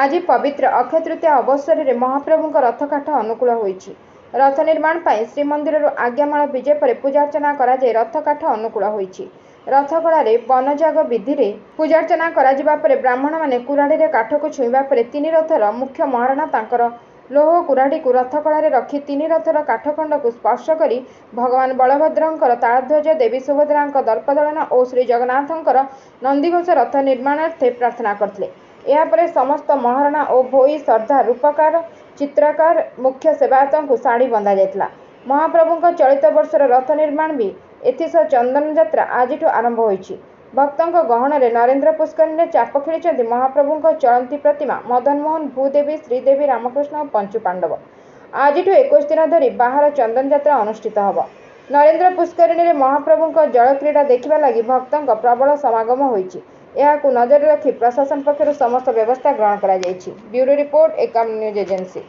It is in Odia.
ଆଜି ପବିତ୍ର ଅକ୍ଷୟ ତୃତୀୟା ଅବସରରେ ମହାପ୍ରଭୁଙ୍କ ରଥକାଠ ଅନୁକୂଳ ହୋଇଛି। ରଥ ନିର୍ମାଣ ପାଇଁ ଶ୍ରୀମନ୍ଦିରରୁ ଆଜ୍ଞାମାଳ ବିଜେ ପରେ ପୂଜାର୍ଚ୍ଚନା କରାଯାଇ ରଥକାଠ ଅନୁକୂଳ ହୋଇଛି। ରଥଖଳାରେ ବନଯାଗ ବିଧିରେ ପୂଜାର୍ଚ୍ଚନା କରାଯିବା ପରେ ବ୍ରାହ୍ମଣମାନେ କୁରାଢ଼ୀରେ କାଠକୁ ଛୁଇଁବା ପରେ ତିନି ରଥର ମୁଖ୍ୟ ମହାରଣା ତାଙ୍କର ଲୌହ କୁରାଢ଼ୀକୁ ରଥଖଳାରେ ରଖି ତିନି ରଥର କାଠଖଣ୍ଡକୁ ସ୍ପର୍ଶ କରି ଭଗବାନ ବଳଭଦ୍ରଙ୍କର ତାଳଧ୍ୱଜ, ଦେବୀ ସୁଭଦ୍ରାଙ୍କ ଦର୍ପଦଳନ ଓ ଶ୍ରୀଜଗନ୍ନାଥଙ୍କର ନନ୍ଦିଘୋଷ ରଥ ନିର୍ମାଣାର୍ଥେ ପ୍ରାର୍ଥନା କରିଥିଲେ। ଏହାପରେ ସମସ୍ତ ମହାରଣା ଓ ଭୋଇ ସର୍ଦ୍ଦାର, ରୂପକାର, ଚିତ୍ରକର, ମୁଖ୍ୟ ସେବାୟତଙ୍କୁ ଶାଢ଼ୀ ବନ୍ଧାଯାଇଥିଲା। ମହାପ୍ରଭୁଙ୍କ ଚଳିତ ବର୍ଷର ରଥ ନିର୍ମାଣ ବି ଏଥିସହ ଚନ୍ଦନଯାତ୍ରା ଆଜିଠୁ ଆରମ୍ଭ ହୋଇଛି। ଭକ୍ତଙ୍କ ଗହଣରେ ନରେନ୍ଦ୍ର ପୁଷ୍କରିଣୀରେ ଚାପ ଖେଳିଛନ୍ତି ମହାପ୍ରଭୁଙ୍କ ଚଳନ୍ତି ପ୍ରତିମା ମଦନମୋହନ, ଭୂଦେବୀ, ଶ୍ରୀଦେବୀ, ରାମକୃଷ୍ଣ ଓ ପଞ୍ଚୁପାଣ୍ଡବ। ଆଜିଠୁ 21 ଦିନ ଧରି ବାହାର ଚନ୍ଦନଯାତ୍ରା ଅନୁଷ୍ଠିତ ହେବ। ନରେନ୍ଦ୍ର ପୁଷ୍କରିଣୀରେ ମହାପ୍ରଭୁଙ୍କ ଜଳକ୍ରୀଡ଼ା ଦେଖିବା ଲାଗି ଭକ୍ତଙ୍କ ପ୍ରବଳ ସମାଗମ ହୋଇଛି। ଏହାକୁ ନଜରରେ ରଖି ପ୍ରଶାସନ ପକ୍ଷରୁ ସମସ୍ତ ବ୍ୟବସ୍ଥା ଗ୍ରହଣ କରାଯାଇଛି। Bureau report, Ekamra news agency.